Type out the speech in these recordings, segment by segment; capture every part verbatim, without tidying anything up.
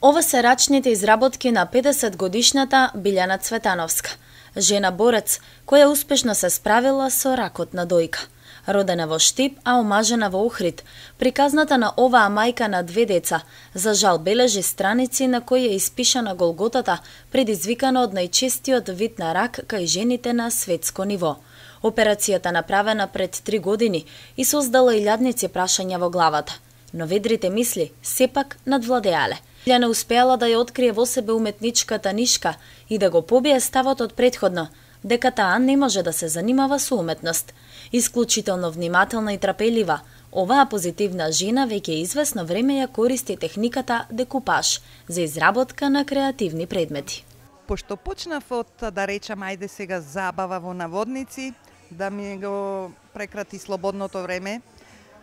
Ова се рачните изработки на педесет годишната Билјана Цветановска, жена борец која успешно се справила со ракот на дојка. Родена во Штип, а омажена во Охрид, приказната на оваа мајка на две деца, за жал бележи страници на кои е испишана голготата, предизвикана од најчестиот вид на рак кај жените на светско ниво. Операцијата направена пред три години и создала илјадници прашања во главата, но ведрите мисли сепак надвладеале. Билјана успеала да ја открие во себе уметничката нишка и да го побие ставот од претходно, дека таа не може да се занимава со уметност. Исклучително внимателна и трапелива, оваа позитивна жена веќе известно време ја користи техниката декупаж за изработка на креативни предмети. Пошто почнав од, да речам, ајде сега забава во наводници, да ми го прекрати слободното време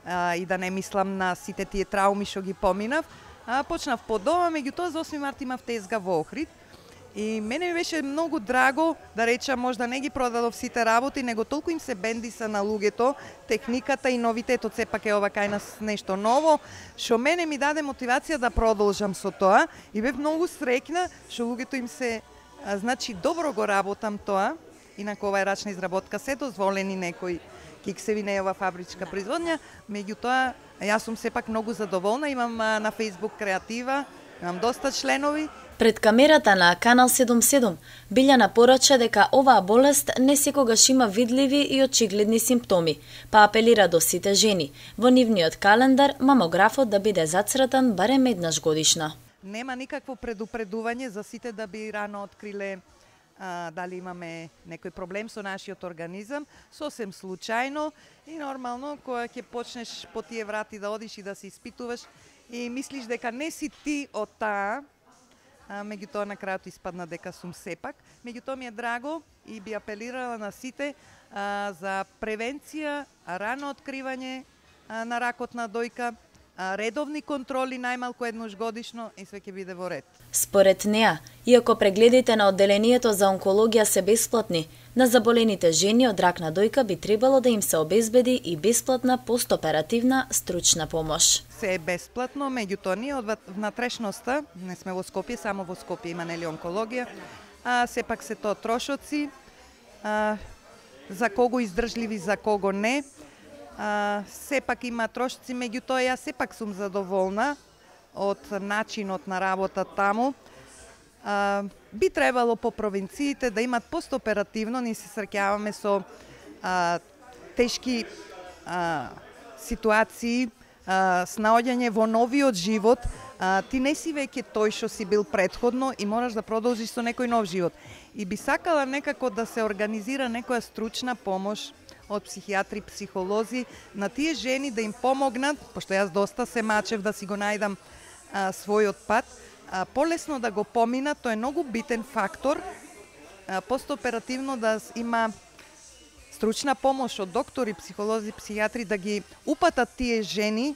а, и да не мислам на сите тие трауми што ги поминав, а, почнав по дома, меѓутоа за осми март имав тезга во Охрид. И мене ми беше многу драго, да речам, можда не ги продадов сите работи, него толку им се бендиса на луѓето, техниката и новитетот, сепак е ова кај нас нешто ново, што мене ми даде мотивација да продолжам со тоа и бев многу среќна што луѓето им се, а, значи, добро го работам тоа, инаку ова е рачна изработка, се дозволени некои киксеви, не е ова фабричка производња, меѓутоа јас сум сепак многу задоволна, имам а, на Facebook креатива, имам доста членови. Пред камерата на Канал седум седум, Билјана порача дека оваа болест не секогаш има видливи и очигледни симптоми, па апелира до сите жени во нивниот календар мамографот да биде зацртан барем еднаш годишно. Нема никакво предупредување за сите да би рано откриле а, дали имаме некој проблем со нашиот организам, сосем случајно и нормално кога ќе почнеш по тие врати да одиш и да се испитуваш и мислиш дека не си ти од таа, меѓутоа на крајот испадна дека сум сепак. Меѓутоа ми е драго и би апелирала на сите а, за превенција, рано откривање а, на ракот на дојка, а, редовни контроли најмалку еднаш годишно и све ќе биде во ред. Според неа, иако прегледите на одделението за онкологија се бесплатни, на заболените жени од рак на дојка би требало да им се обезбеди и бесплатна постоперативна стручна помош. Се е бесплатно, меѓутоа ние од внатрешноста, не сме во Скопје, само во Скопје има нели онкологија, а сепак се тоа трошоци, а, за кого издржливи, за кого не. А, сепак има трошоци, меѓутоа јас сепак сум задоволна од начинот на работа таму. А, би требало по провинциите да имат постоперативно, ние се среќаваме со а, тешки а, ситуации, а, снаоѓање во новиот живот, а, ти не си веќе тој што си бил претходно и мораш да продолжиш со некој нов живот. И би сакала некако да се организира некоја стручна помош од психијатри, психолози, на тие жени да им помогнат, пошто јас доста се мачев да си го најдам а, својот пат, а, полесно да го поминат, тоа е многу битен фактор, а, постоперативно да има стручна помош од доктори, психолози, психијатри да ги упатат тие жени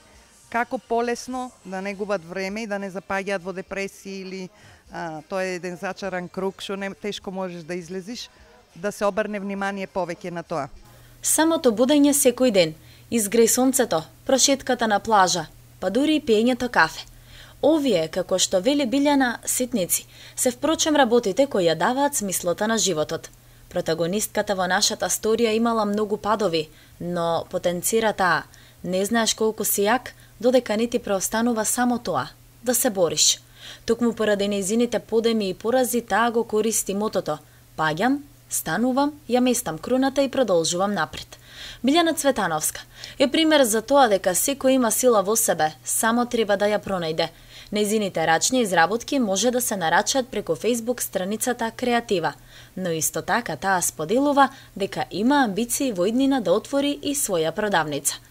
како полесно да не губат време и да не запаѓаат во депресија или а, тоа е еден зачаран круг што не тешко можеш да излезиш, да се обрне внимание повеќе на тоа. Самото будење секој ден, изгреј сонцето, прошетката на плажа, па дури и пиењето кафе. Овие, како што вели Билјана, ситници, се впрочем работите кои ја даваат смислата на животот. Протагонистката во нашата сторија имала многу падови, но потенцира таа. Не знаеш колку си јак, додека не ти преостанува само тоа, да се бориш. Токму поради нејзините подеми и порази, таа го користи мотото: паѓам, станувам, ја местам круната и продолжувам напред. Билјана Цветановска е пример за тоа дека секој има сила во себе, само треба да ја пронајде. Нејзините рачни изработки може да се нарачат преку Facebook страницата Креатива, но исто така таа споделува дека има амбиции во иднина да отвори и своја продавница.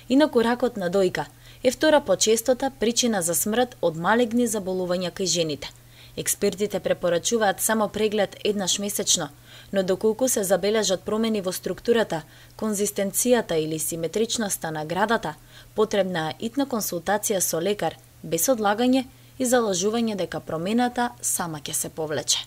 Инаку ракот на дојка е втора по честота причина за смрт од малегни заболувања кај жените. Експертите препорачуваат само преглед еднаш месечно, но доколку се забележат промени во структурата, конзистенцијата или симетричноста на градата, потребна е итна консултација со лекар, без одлагање и залажување дека промената сама ќе се повлече.